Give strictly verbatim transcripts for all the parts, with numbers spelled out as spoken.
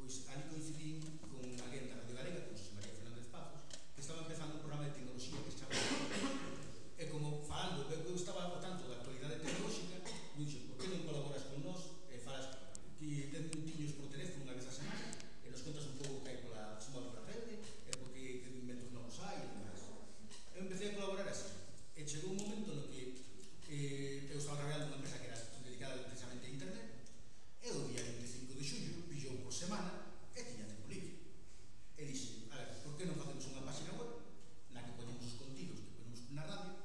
pois ali coincidín con alguén da Radio Galega, con José María Fernández Pazos, que estaba empezando un programa de tecnoloxía que se chama e como falando, eu estaba ao tanto da actualidade tecnolóxica, me dixo, por que non colaboras con nós e falas que ten minutiños por teléfono unha vez a semana e nos contas un pouco que hai pola suma pola rede e porque que inventos novos hai e demais. Eu empecé a colaborar así e chegou un momento no que eh, eu estaba traballando unha empresa que era dedicada precisamente a internet e o día vinte e cinco de xullo pillou por semana e tiña tempo libre e dixe, a ver, por que non facemos unha página web na que poñemos os contidos que ponemos na radio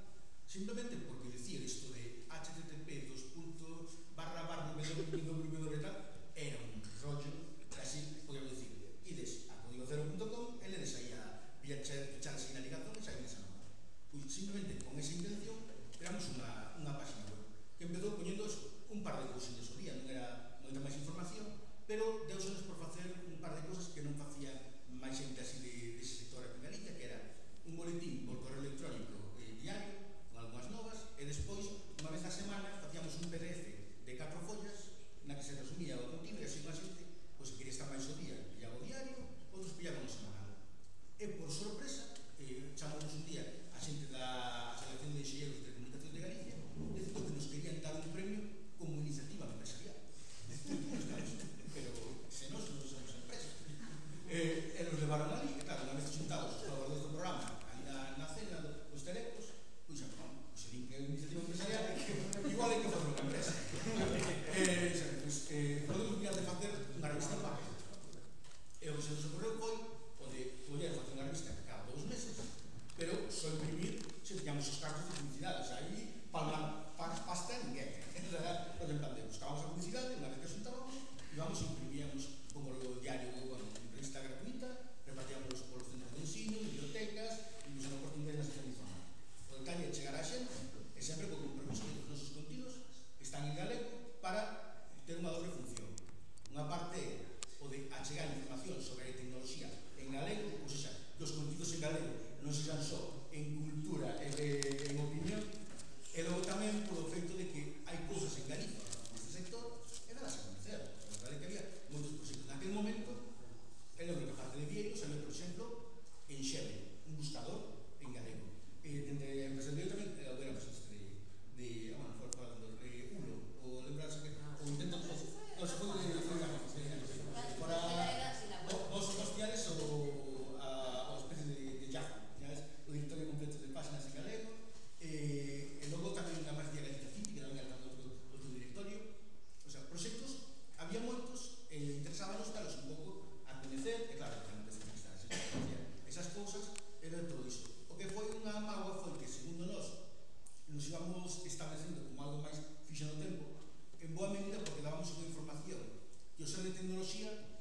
simplemente porque decir isto de http dos puntos barra barra www tal era un rollo así, podemos decir ides a código cero punto com e ledes aí a pichar así na ligación e saídes a nova. Pois simplemente con esa intención creamos unha, unha página web que empezou poñendo un par de cousinhas ao día, non era moita máis información, pero deusenos por facer un par de cousas que non facía máis xente así de, dese sector aquí en Galicia, que era un boletín por correo electrónico eh, diario con algunhas novas e despois, unha vez a semana, facíamos un P D F de catro follas na que se resumía o contido e así unha xente, pois se quería estar máis o día pillaba o diario, outros pillaban o semanal e por sorpresa eh, chamamos un día a xente da Asociación de Enxeñeros de Comunicación de Galicia dicindo que nos querían dar un premio como iniciativa empresarial pero se nos non somos empresa e, e nos levaron ali e claro, unha vez xuntados os colaboradores do programa ali na, na cena dos telecos pois xa, non, pois se din que é unha iniciativa empresarial igual hai que fazer unha empresa e, xa, pois, eh, podemos mirar de facer unha revista en papel e o que se nos ocorreu foi onde poder facer unha revista cada dous meses pero só imprimir se tiñamos os cartos de publicidade, o sea, aí palmar pasta ninguén por exemplo, buscábamos a publicidade unha vez que xuntábamos íbamos e imprimíamos como o diario, bueno, revista gratuita repartíamos polos centros de ensino, bibliotecas e nos oportunidades na sección informática o detalle é chegar a xente e sempre con compromiso que os nosos contidos están en galego para ter unha doble función unha parte é o de achegar información sobre a tecnoloxía en galego, ou seja, que os contidos en galego non sexan só en cultura e en opinión e logo tamén polo feito de que hai cousas en Galicia neste sector e dalas a conocer a verdade que había moitos proxectos naquele momento e logo que parte de Vieiros había, por exemplo, en Xeve un buscador en galego e dende a empresa de Vieiros tamén era a empresa de de, bueno, fora falando de Ulo ou lembrarse que ou intento non se pode para vos hostiales ou a especie de Yahoo o directorio completo de páginas en galego e logo tamén unha máis de Galicia City que tamén era outro directorio o sea, proxectos había moitos e interesábanos dalos un pouco a coñecer e claro, que non desconectar esas cousas era todo iso o que foi unha mágoa foi que segundo nós nos íbamos establecendo como algo máis fixo no tempo en boa medida porque dábamos unha información que o ser de tecnoloxía